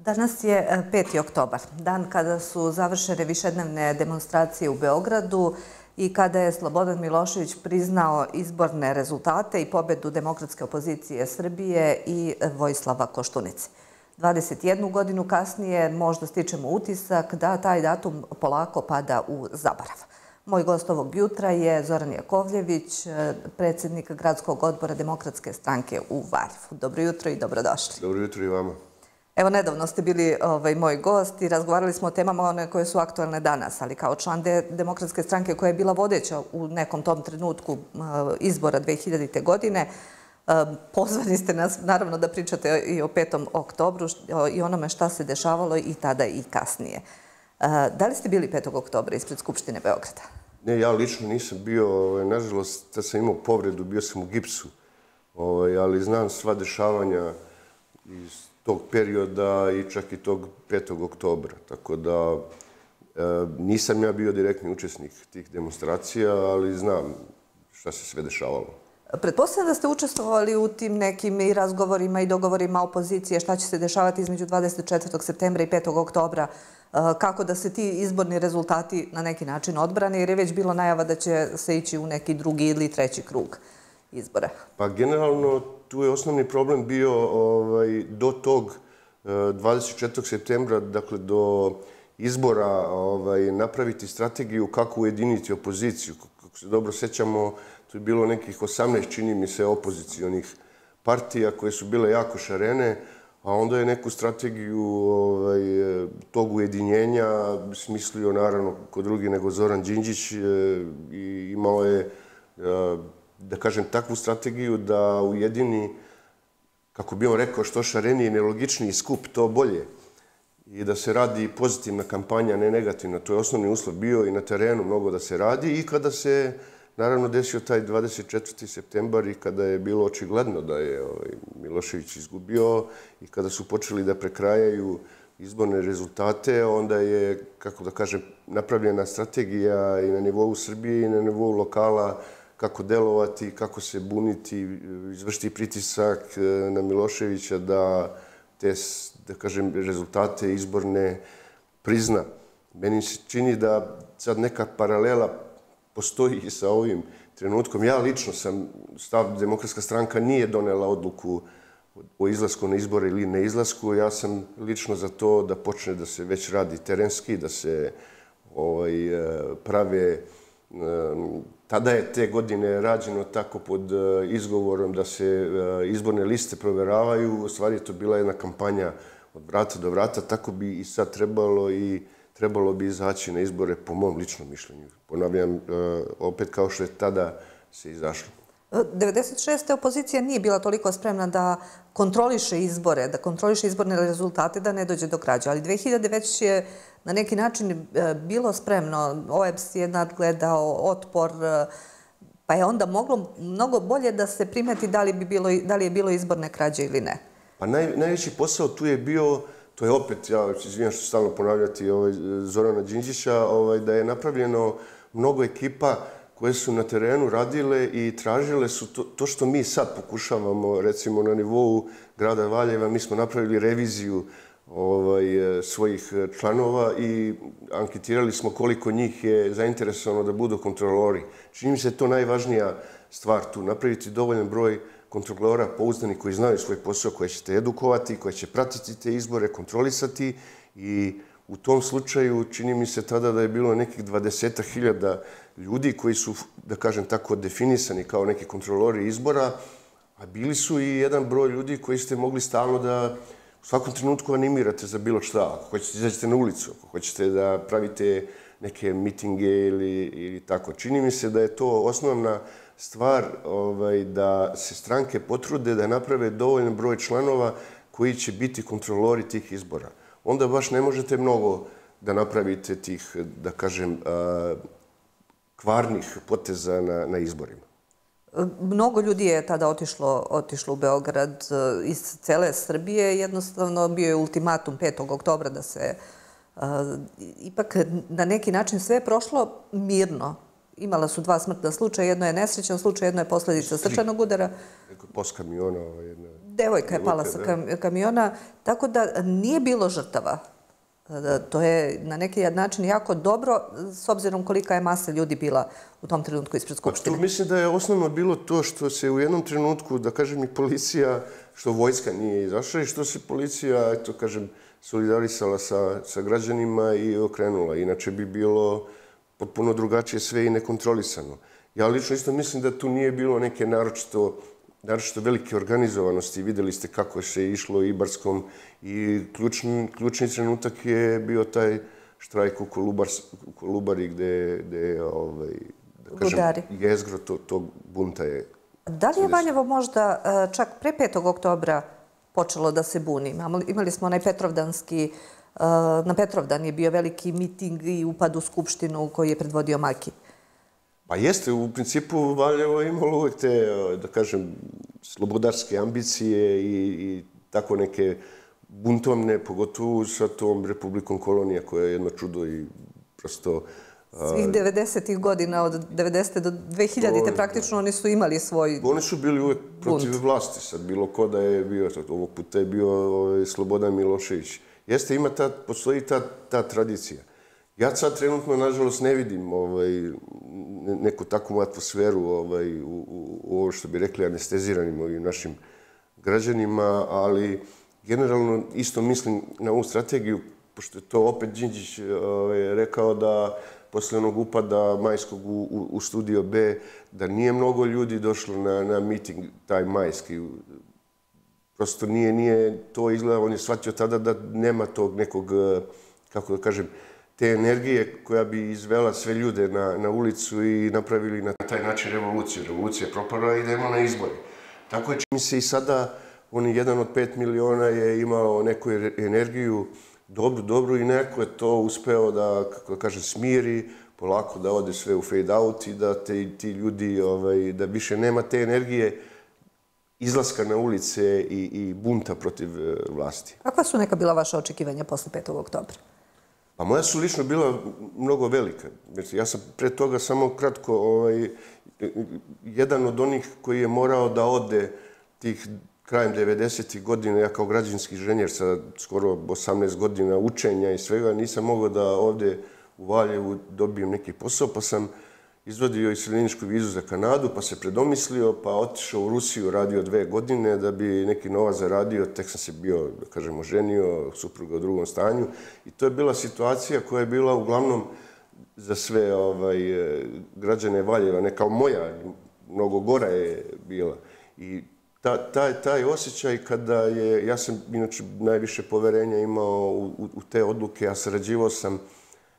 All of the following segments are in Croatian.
Danas je 5. oktobar, dan kada su završene višednevne demonstracije u Beogradu i kada je Slobodan Milošević priznao izborne rezultate i pobedu demokratske opozicije Srbije i Vojislava Koštunice. 21 godinu kasnije možda stičemo utisak da taj datum polako pada u zaborav. Moj gost ovog jutra je Zoran Jakovljević, predsjednik Gradskog odbora Demokratske stranke u Valjevu. Dobro jutro i dobrodošli. Dobro jutro i vama. Evo, nedavno ste bili moj gost i razgovarali smo o temama one koje su aktualne danas, ali kao član Demokratske stranke koja je bila vodeća u nekom tom trenutku izbora 2000. godine, pozvani ste nas naravno da pričate i o 5. oktobru i onome šta se dešavalo i tada i kasnije. Da li ste bili 5. oktobra ispred Skupštine Beograda? Ne, ja lično nisam bio, nažalost, da sam imao povredu, bio sam u gipsu, ali znam sva dešavanja iz tog perioda i čak i tog 5. oktobra. Tako da nisam ja bio direktni učesnik tih demonstracija, ali znam šta se sve dešavalo. Pretpostavljam da ste učestvovali u tim nekim i razgovorima i dogovorima opozicije šta će se dešavati između 24. septembra i 5. oktobra, kako da se ti izborni rezultati na neki način odbrane, jer je već bilo najava da će se ići u neki drugi ili treći krug izbora. Pa generalno tu je osnovni problem bio do tog 24. septembra, dakle do izbora, napraviti strategiju kako ujediniti opoziciju. Kako se dobro sećamo, tu je bilo nekih 18, čini mi se, opozicionih partija koje su bile jako šarene, a onda je neku strategiju tog ujedinjenja smislio, naravno, ko drugi nego Zoran Đinđić, i imao je, da kažem, takvu strategiju da ujedini, kako bi on rekao, što šareniji i nelogičniji skup, to bolje. I da se radi pozitivna kampanja, ne negativna. To je osnovni uslov bio i na terenu mnogo da se radi. I kada se, naravno, desio taj 24. septembar i kada je bilo očigledno da je Milošević izgubio i kada su počeli da prekrajaju izborne rezultate, onda je, kako da kažem, napravljena strategija i na nivou Srbije i na nivou lokala kako delovati, kako se buniti, izvršiti pritisak na Miloševića da te, da kažem, rezultate izborne prizna. Meni se čini da sad neka paralela postoji i sa ovim trenutkom. Ja lično sam, Demokratska stranka nije donela odluku o izlasku na izbore ili ne izlasku. Ja sam lično za to da počne da se već radi terenski, da se prave. Tada je te godine rađeno tako pod izgovorom da se izborne liste proveravaju. U stvari je to bila jedna kampanja od vrata do vrata. Tako bi i sad trebalo i trebalo bi izaći na izbore, po mom ličnom mišljenju. Ponavljam, opet kao što je tada se izašlo. 96. opozicija nije bila toliko spremna da kontroliše izbore, da kontroliše izborne rezultate, da ne dođe do krađa. Ali 2000. već je na neki način bilo spremno. OEBS je nadgledao otpor, pa je onda moglo mnogo bolje da se primeti da li je bilo izborne krađe ili ne. Pa najveći posao tu je bio, to je opet, ja izvinjam što ću stalno ponavljati Zorana Đinđića, da je napravljeno mnogo ekipa koje su na terenu radile i tražile su to što mi sad pokušavamo, recimo na nivou grada Valjeva. Mi smo napravili reviziju svojih članova i anketirali smo koliko njih je zainteresovano da budu kontrolori. Čini mi se to najvažnija stvar tu, napraviti dovoljan broj kontrolora pouzdani koji znaju svoj posao, koje ćete edukovati, koje će pratiti te izbore, kontrolisati, i u tom slučaju čini mi se tada da je bilo nekih 20.000 ljudi koji su, da kažem tako, definisani kao neki kontrolori izbora, a bili su i jedan broj ljudi koji ste mogli stalno da u svakom trenutku animirate za bilo šta. Ako hoćete izađete na ulicu, ako hoćete da pravite neke mitinge ili tako. Čini mi se da je to osnovna stvar, da se stranke potrude da naprave dovoljan broj članova koji će biti kontrolori tih izbora. Onda baš ne možete mnogo da napravite tih, da kažem, kvarnih poteza na izborima. Mnogo ljudi je tada otišlo u Beograd iz cele Srbije. Jednostavno bio je ultimatum 5. oktobra da se ipak na neki način sve je prošlo mirno. Imala su 2 smrtna slučaja, jedno je nesrećan slučaj, jedno je posljedica srčanog udara. Post kamiona, jedna devojka je pala sa kamiona, tako da nije bilo žrtava. To je na neki način jako dobro, s obzirom kolika je masa ljudi bila u tom trenutku ispred Skupštine. Tu mislim da je osnovno bilo to što se u jednom trenutku, da kažem, i policija, što vojska nije izašla i što se policija, eto kažem, solidarisala sa građanima i okrenula. Inače bi bilo potpuno drugačije sve i nekontrolisano. Ja lično isto mislim da tu nije bilo neke naročito velike organizovanosti. Videli ste kako se išlo Ibarskom i ključni trenutak je bio taj štrajk u Kolubari gde je, da kažem, jezgro tog bunta je. Da li je Valjevo možda čak pre 5. oktobra počelo da se buni? Imali smo onaj Petrovdanski, na Petrovdan je bio veliki miting i upad u Skupštinu koji je predvodio Maki. Pa jeste, u principu Valjevo je imalo uvijek te, da kažem, slobodarske ambicije i tako neke buntovne, pogotovo sa tom Republikom Kolonija koja je jedno čudo i prosto... Svih 90-ih godina, od 90. do 2000. praktično oni su imali svoj bunt. Oni su bili uvijek protiv vlasti, sad bilo ko da je bio, ovog puta je bio Slobodan Milošević. Jeste, postoji ta tradicija. Ja sad trenutno, nažalost, ne vidim neku takvu atmosferu u ovo što bi rekli anesteziranim ovim našim građanima, ali generalno isto mislim na ovu strategiju, pošto je to opet Đinđić rekao da posle onog upada majskog u Studio B, da nije mnogo ljudi došlo na miting taj majski. Prosto nije to izgleda, on je shvatio tada da nema tog nekog, kako da kažem, te energije koja bi izvela sve ljude na ulicu i napravili na taj način revoluciju. Revolucija je propala i idemo na izbore. Tako je, čini se i sada, on je 1 od 5 miliona je imao neku energiju dobru i neko je to uspeo da, kako da kažem, smiri, polako da ode sve u fade out i da ti ljudi, da više nema te energije izlaska na ulice i bunta protiv vlasti. Kakva su neka bila vaša očekivanja posle 5. oktobra? Pa moja su lično bila mnogo velika. Ja sam pre toga samo kratko jedan od onih koji je morao da ode tih krajem 90. godina, ja kao građevinski inženjer sa skoro 18 godina učenja i svega, nisam mogao da ovde u Valjevu dobijem neki posao, pa sam izvadio iseljeničku vizu za Kanadu, pa se predomislio, pa otišao u Rusiju, radio 2 godine da bi neki novac zaradio, tek sam se bio, da kažemo, ženio, supruga u drugom stanju. I to je bila situacija koja je bila uglavnom za sve građane Valjeva, ne kao moja, mnogo gora je bila. I taj osjećaj kada je, ja sam inače najviše poverenja imao u te odluke, ja sarađivao sam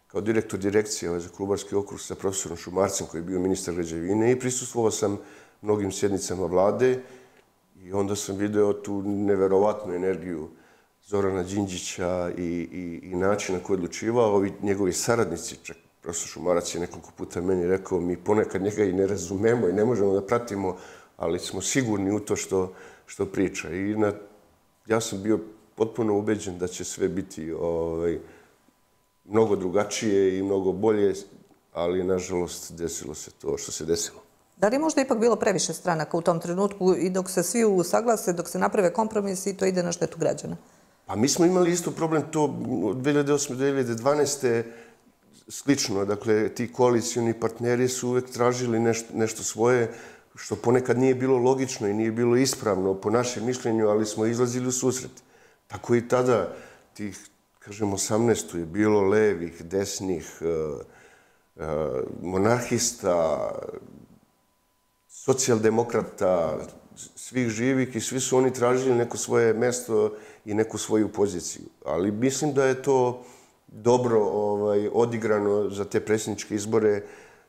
kao direktor direkcije za Kolubarski okrug sa profesorom Šumarcem koji je bio ministar građevine i prisustvovao sam mnogim sjednicama vlade i onda sam video tu neverovatnu energiju Zorana Đinđića i način na koji je odlučivao. Ovi njegovi saradnici, čak profesor Šumarac je nekoliko puta meni rekao, mi ponekad njega i ne razumemo i ne možemo da pratimo, ali smo sigurni u to što priča. I ja sam bio potpuno ubeđen da će sve biti mnogo drugačije i mnogo bolje, ali nažalost desilo se to što se desilo. Da li je možda ipak bilo previše stranaka u tom trenutku i dok se svi usaglase, dok se naprave kompromisi, to ide na štetu građana? Pa mi smo imali isto problem to od 2008. do 2012. slično. Dakle, ti koalicijoni partneri su uvek tražili nešto svoje, što ponekad nije bilo logično i nije bilo ispravno po našem mišljenju, ali smo izlazili u susret. Tako i tada, tih, kažem, 18. je bilo levih, desnih, monarhista, socijaldemokrata, svih živih i svi su oni tražili neko svoje mesto i neku svoju poziciju. Ali mislim da je to dobro odigrano za te predsjedničke izbore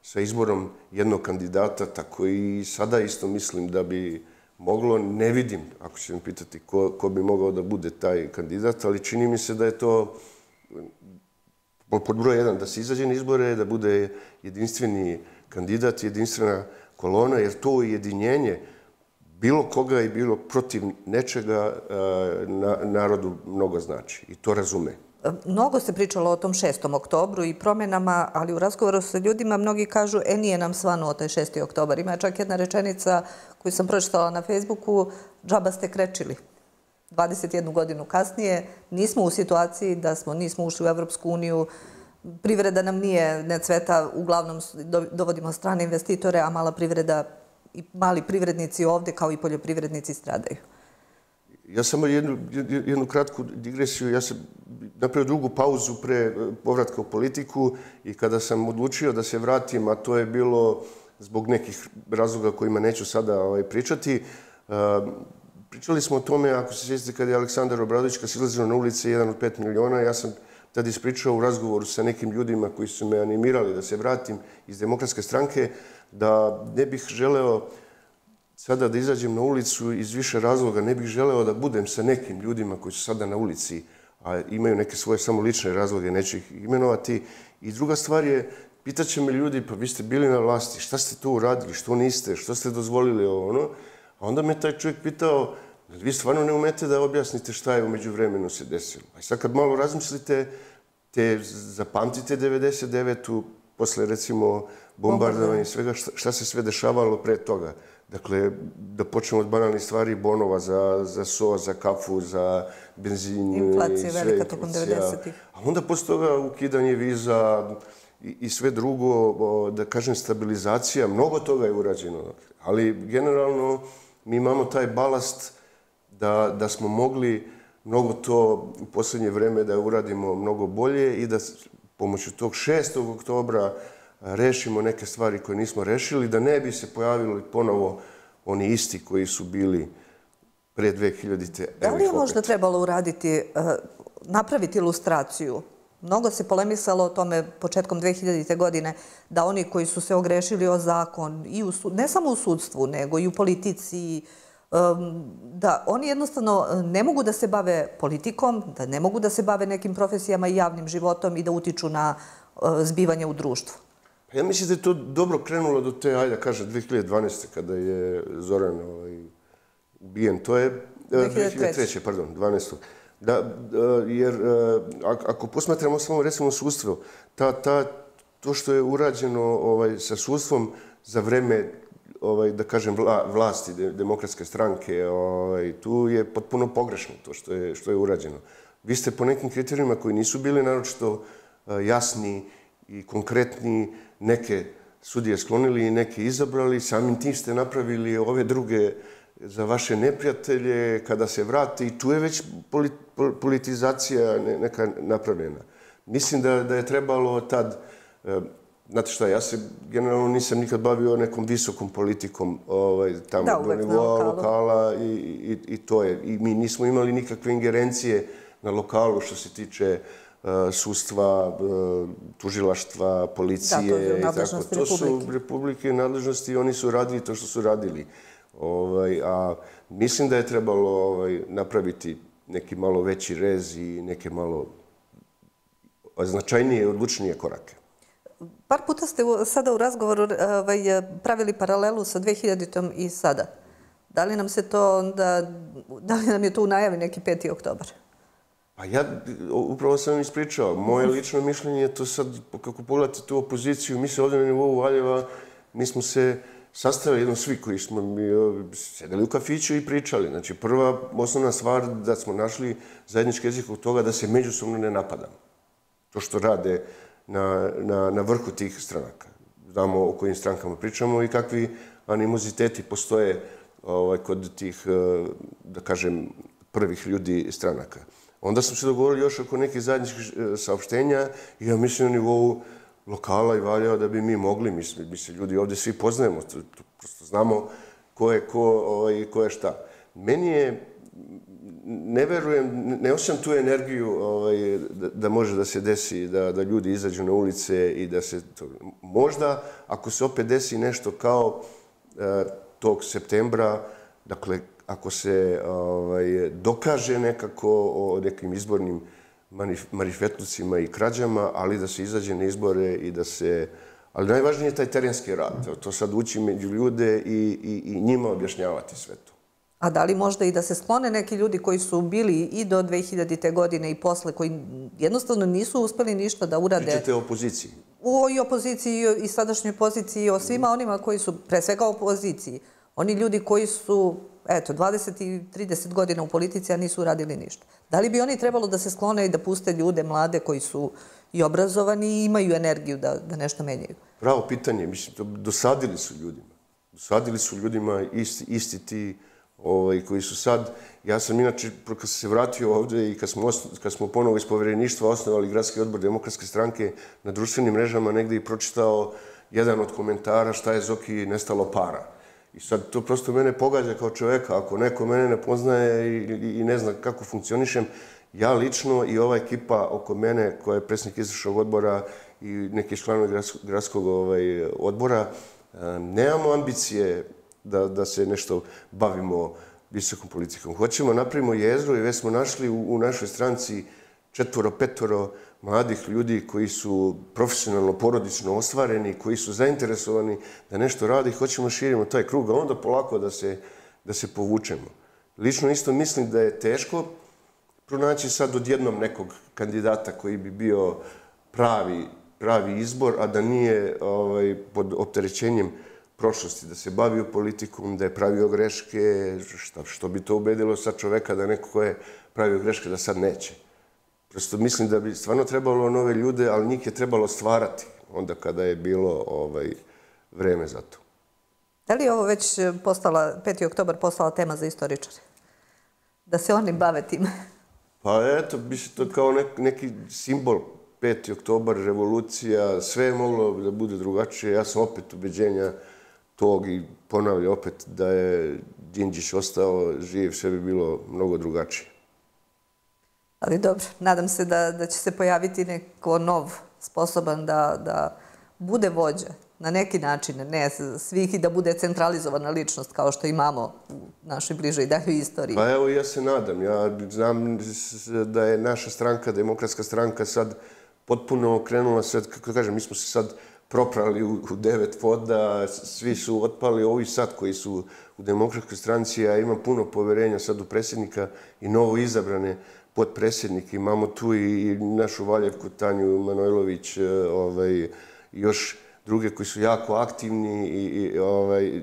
sa izborom jednog kandidata, tako i sada isto mislim da bi moglo, ne vidim, ako će me pitati ko bi mogao da bude taj kandidat, ali čini mi se da je to pod broj 1, da se izađe na izbore, da bude jedinstveni kandidat, jedinstvena kolona, jer to ujedinjenje bilo koga i bilo protiv nečega narodu mnogo znači i to razume. Mnogo se pričalo o tom 6. oktobru i promjenama, ali u razgovoru sa ljudima mnogi kažu nije nam svanuo taj 6. oktobar. Ima čak jedna rečenica koju sam pročitala na Facebooku, džaba ste krečili. 21 godinu kasnije nismo u situaciji da nismo ušli u Evropsku uniju, privreda nam ne cveta, uglavnom dovodimo strane investitore, a mala privreda i mali privrednici ovdje kao i poljoprivrednici stradaju. Ja samo jednu kratku digresiju. Ja sam napravio drugu pauzu pre povratka u politiku i kada sam odlučio da se vratim, a to je bilo zbog nekih razloga kojima neću sada pričati, pričali smo o tome, ako se sjećate, kada je Aleksandar Obradović kad se izlazio na ulice 1 od 5 miliona, ja sam tada ispričao u razgovoru sa nekim ljudima koji su me animirali da se vratim iz Demokratske stranke, da ne bih želeo sada da izađem na ulicu iz više razloga, ne bih želeo da budem sa nekim ljudima koji su sada na ulici, a imaju neke svoje samo lične razloge, neću ih imenovati. I druga stvar je, pitaće me ljudi, pa vi ste bili na vlasti, šta ste tu uradili, što niste, što ste dozvolili ovo, ono? A onda me taj čovjek pitao, vi stvarno ne umete da objasnite šta je umeđu vremenu se desilo. A sad kad malo razmislite, zapamtite 99. posle recimo bombardovanja i svega, šta se sve dešavalo pre toga. Dakle, da počnemo od banalnih stvari, bonova za so, za kafu, za benzin. Inflacija velika tokom 90-ih. A onda posle toga ukidanje viza i sve drugo, da kažem, stabilizacija, mnogo toga je urađeno. Ali generalno mi imamo taj balast da smo mogli mnogo to u posljednje vreme da uradimo mnogo bolje i da pomoću tog 6. oktobra rešimo neke stvari koje nismo rešili, da ne bi se pojavili ponovo oni isti koji su bili pre 2000-te. Da li je možda trebalo uraditi, napraviti ilustraciju? Mnogo se polemisalo o tome početkom 2000. godine da oni koji su se ogrešili o zakon, ne samo u sudstvu, nego i u politici, da oni jednostavno ne mogu da se bave politikom, da ne mogu da se bave nekim profesijama i javnim životom i da utiču na zbivanje u društvu. Ja mislim da je to dobro krenulo do te, ajde da kažem, 2012. kada je Zoran ubijen. To je 2003. pardon, 12. Jer ako posmatramo samo recimo sudstvo, to što je urađeno sa sudstvom za vreme, da kažem, vlasti Demokratske stranke, tu je potpuno pogrešno to što je urađeno. Vi ste po nekim kriterijima koji nisu bili naročito jasni i konkretni, neke sudije sklonili i neke izabrali, samim tim ste napravili ove druge za vaše neprijatelje kada se vrate i tu je već politizacija neka napravljena. Mislim da je trebalo tad, znate šta, ja se generalno nisam nikad bavio nekom visokom politikom tamo do nivoa lokala i to je. I mi nismo imali nikakve ingerencije na lokalu što se tiče sudstva, tužilaštva, policije i tako. To su republike nadležnosti i oni su radili to što su radili. A mislim da je trebalo napraviti neki malo veći rez i neke malo značajnije i odlučnije korake. Par puta ste sada u razgovoru pravili paralelu sa 2000-tom i sada. Da li nam je to u najavi neki 5. oktobar? Pa ja upravo sam vam ispričao. Moje lično mišljenje je to sad, kako pogledate tu opoziciju, mi se ovdje na nivou Valjeva, mi smo se sastavili jednom svi koji smo sedeli u kafiću i pričali. Znači, prva osnovna stvar da smo našli zajednički jezik od toga da se međusobno ne napadamo. To što rade na vrhu tih stranaka. Znamo o kojim strankama pričamo i kakvi animoziteti postoje kod tih, da kažem, prvih ljudi stranaka. Onda smo se dogovorili još oko nekih zajedničkih saopštenja i ja mislim na nivou lokala i Valjeva da bi mi mogli, mi se ljudi ovdje svi poznajemo, prosto znamo ko je ko i ko je šta. Meni je, ne verujem, ne osjećam tu energiju da može da se desi, da ljudi izađu na ulice i da se to... Možda, ako se opet desi nešto kao tog septembra, dakle, ako se dokaže nekako o nekim izbornim marifetlucima i krađama, ali da se izađe na izbore i da se... Ali najvažnije je taj terenski rad. To sad ući među ljude i njima objašnjavati sve to. A da li možda i da se sklone neki ljudi koji su bili i do 2000. godine i posle, koji jednostavno nisu uspeli ništa da urade... Pričate o opoziciji? I opoziciji i sadašnjoj poziciji, o svima onima koji su, pre svega opoziciji, oni ljudi koji su eto, 20 i 30 godina u politici, a nisu uradili ništa. Da li bi oni trebalo da se sklone i da puste ljude mlade koji su i obrazovani i imaju energiju da nešto menjaju? Pravo pitanje, mislim, dosadili su ljudima. Dosadili su ljudima isti ti koji su sad. Ja sam inače, kad sam se vratio ovdje i kad smo ponovo iz povjereništva osnovali Gradski odbor Demokratske stranke, na društvenim mrežama negdje i pročitao jedan od komentara šta je Zoki nestalo para. I sad to prosto mene pogađa kao čovjeka. Ako neko mene ne poznaje i ne zna kako funkcionišem, ja lično i ova ekipa oko mene, koja je predsjednik izvršnog odbora i neki članovi gradskog odbora, nemamo ambicije da se nešto bavimo visokom politikom. Hoćemo, napravimo jezgro i već smo našli u našoj stranci 4-5 mladih ljudi koji su profesionalno, porodično ostvareni, koji su zainteresovani da nešto radi i hoćemo širimo taj krug, a onda polako da se povučemo. Lično isto mislim da je teško pronaći sad odjednom nekog kandidata koji bi bio pravi izbor, a da nije pod opterećenjem prošlosti, da se bavio politikom, da je pravio greške, što bi to ubedilo sad čoveka da neko ko je pravio greške da sad neće. Prosto mislim da bi stvarno trebalo nove ljude, ali njih je trebalo stvarati onda kada je bilo vreme za to. Da li je ovo već 5. oktobar postala tema za istoričare? Da se oni bave tim? Pa eto, bi se to kao neki simbol 5. oktobar, revolucija, sve je moglo da bude drugačije. Ja sam opet ubeđenja tog i ponavljam opet da je Đinđić ostao živ, sve bi bilo mnogo drugačije. Ali dobro, nadam se da će se pojaviti neko nov, sposoban da bude vođa na neki način, ne svih i da bude centralizovana ličnost kao što imamo u našoj bližoj daljoj istoriji. Pa evo, ja se nadam. Ja znam da je naša stranka, Demokratska stranka, sad potpuno okrenula sve, kako kažem, mi smo se sad proprali u 9 voda, svi su otpali, ovi sad koji su u Demokratskoj stranci, ja imam puno poverenja sad u predsjednika i novo izabrane potpredsjednike. Imamo tu i našu Valjevku Tanju Manojlović i još druge koji su jako aktivni i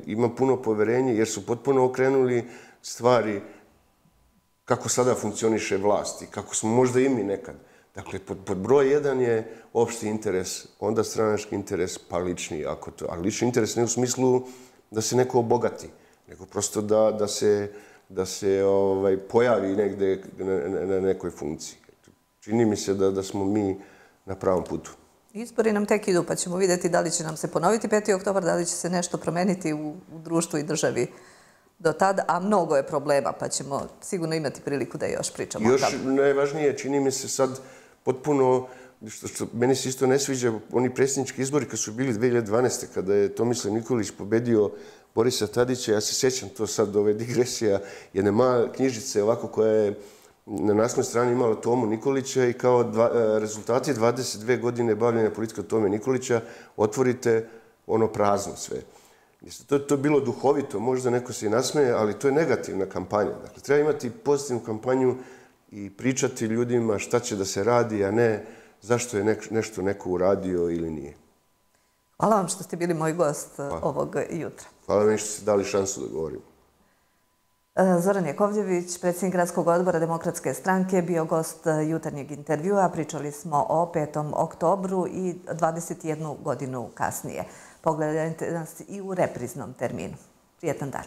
imam puno poverenja jer su potpuno okrenuli stvari kako sada funkcioniše vlast i kako smo možda i mi nekad. Dakle, pod broj 1 je opšti interes, onda stranački interes, pa lični. Ali lični interes ne u smislu da se neko obogati, nego prosto da se pojavi negde na nekoj funkciji. Čini mi se da smo mi na pravom putu. Izbori nam tek idu, pa ćemo vidjeti da li će nam se ponoviti 5. oktobar, da li će se nešto promeniti u društvu i državi do tada, a mnogo je problema, pa ćemo sigurno imati priliku da još pričamo. Još najvažnije, čini mi se sad potpuno, što meni se isto ne sviđa, oni predsjednički izbori kad su bili 2012. kada je Tomislav Nikolić pobedio Borisa Tadića, ja se sjećam to sad ove digresija, jedne male knjižice ovako koja je na naslovnoj strani imala Tomu Nikolića i kao rezultati 22 godine bavljenja politika Tome Nikolića otvorite ono prazno sve. To je bilo duhovito, možda neko se i nasmeje, ali to je negativna kampanja. Dakle, treba imati pozitivnu kampanju i pričati ljudima šta će da se radi, a ne zašto je nešto neko uradio ili nije. Hvala vam što ste bili moj gost ovog jutra. Hvala vam što ste dali šansu da govorim. Zoran Jakovljević, predsjednik Gradskog odbora Demokratske stranke, bio gost jutarnjeg intervjua. Pričali smo o 5. oktobru i 21 godinu kasnije. Pogledajte nas i u repriznom terminu. Prijetan dan.